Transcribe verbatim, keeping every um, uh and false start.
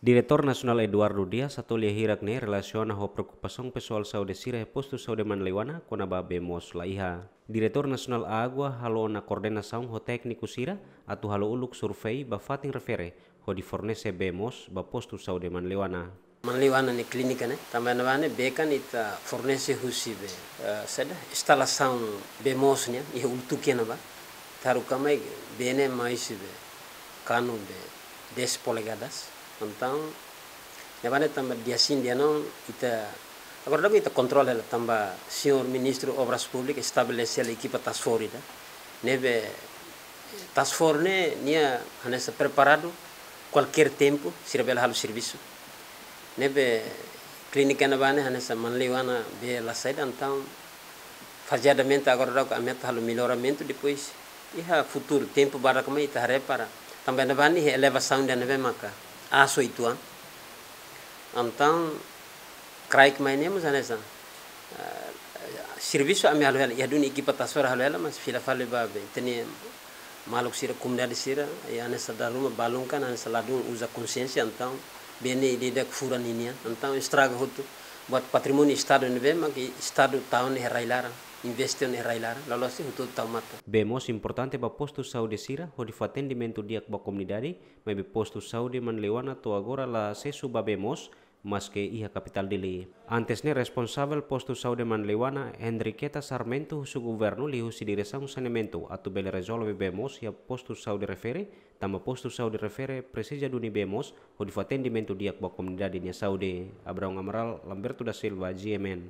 Diretór Nasionál Eduardo Dias hato'o lia hirak ne'e relasiona ho preokupasaun pesoál saúde sira iha postu saúde Manleuana kona-ba bee moos la iha. Diretór Nasionál Água halo ona koordenasaun ho tékniku sira atu halo uluk survei ba fatin refere hodi fornese bee moos ba postu saúde Manleuana. Manleuana nia klínika ne'e, tanba ne'ebá ne'e bee kan ita fornese husi be, eh, saida, instalasaun bee moos nian, iha uluk tukiana ba, taruka mai bee ne'e mai husi be, kanu be, dez polegadas, entaun, ne'ebá ne'e tanba dia sin dia não, ita, agora daudaun ita kontrola hela, tanba señór Ministru Obras Públikas estabelese hela ekipa task force ida, ne'ebé task force ne'e nia hanesan preparadu kualkér tempu sira bele halo servisu. Ne'ebé klínika ne'ebá ne'e hanesan Manleuana bee la saida, entaun fazeadamente agora daudaun ami atu halo melloramentu, depois iha futuru tempu badak mai ita haree para. Tanba ne'ebá ne'e iha elevasaun ida ne'ebé maka aas uitoan. Entaun kraik mai ne'e mós hanesan, ah, servisu ami halo hela, iha duni ekipa task force halo hela, mas fila fali ba be, ita-nia maluk sira, komunidade sira, i hanesan dala ruma balun kan, hanesan ladún uza konxiénsia, entaun, bee ne'e ida-idak furan ninian, entaun, estraga hotu, buat patrimóniu Estadu ne'ebé, mak Estadu tau ona iha rai-laran, investe ona iha rai-laran, loloos ne'e hotu tau matan. Bee moos importante ba postu saúde sira, hodi fó atendimentu di'ak ba komunidade, maibé postu saúde Manleuana to'o agora la asesu ba bee moos, maske iha kapitál Dili. Antes ne'e responsavel postu saúde Manleuana, Henriqueta Sarmento, husu governu liuhusi diresaun saneamentu atu bele rezolve bee moos iha postu saúde refere, tanba postu saúde refere presiza duni bee moos hodi fó atendimentu di'ak ba komunidade nia saúde. Abraão Amaral, Lamberto da Silva, G M N.